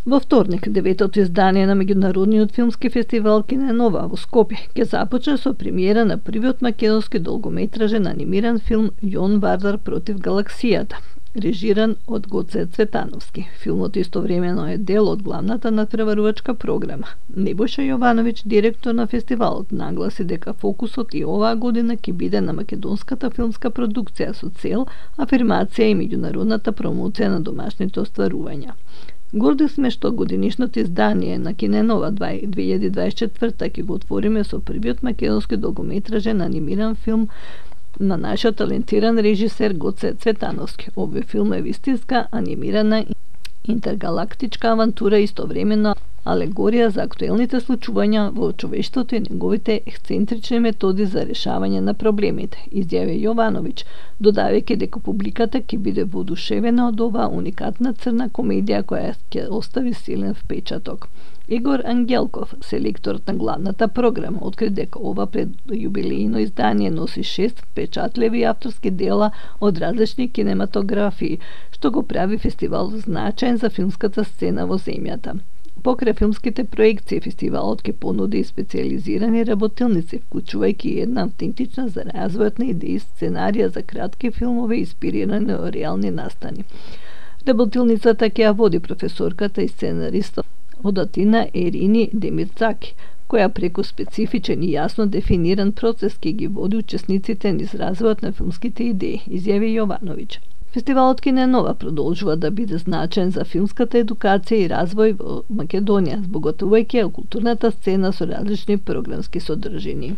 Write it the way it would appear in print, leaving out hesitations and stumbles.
Во вторник, 9-то издание на меѓународниот филмски фестивал Киненова во Скопје ќе започне со премиера на првиот македонски долгометражен анимиран филм Јон Вардар против галаксијата, режиран од Гоце Цветановски. Филмот истовремено е дел од главната надпреварувачка програма. Небојша Јовановиќ, директор на фестивалот, нагласи дека фокусот и оваа година ќе биде на македонската филмска продукција со цел афирмација и меѓународната промоција на домашните остварувања. Горди сме што годинишното издание на Киненова 2024 ќе го отвориме со првиот македонски долгометражен анимиран филм на нашиот талентиран режисер Гоце Цветановски. Овој филм е вистинска анимирана интергалактичка авантура, истовремено алегорија за актуелните случувања во човештвото и неговите ексцентрични методи за решавање на проблемите, изјави Јовановиќ, додавајќи дека публиката ќе биде воодушевена од оваа уникатна црна комедија која ќе остави силен впечаток. Игор Ангелков, селекторот на главната програма, откри дека ова предјубилејно издание носи 6 впечатливи авторски дела од различни кинематографии, што го прави фестивал значаен за филмската сцена во земјата. Покрај филмските проекции, фестивалот ќе понуди и специјализирани работилници, вклучувајќи една автентична за развојот на идеи сценарија за кратки филмови инспирирани од реални настани. Работилницата ќе ја води професорката и сценариста од Атина Ерини Демирцаки, која преку специфичен и јасно дефиниран процес ќе ги води учесниците низ развојот на филмските идеи, изјави Јовановиќ. Фестивалот Киненова продолжува да биде значаен за филмската едукација и развој во Македонија, збогатувајќи ја културната сцена со различни програмски содржини.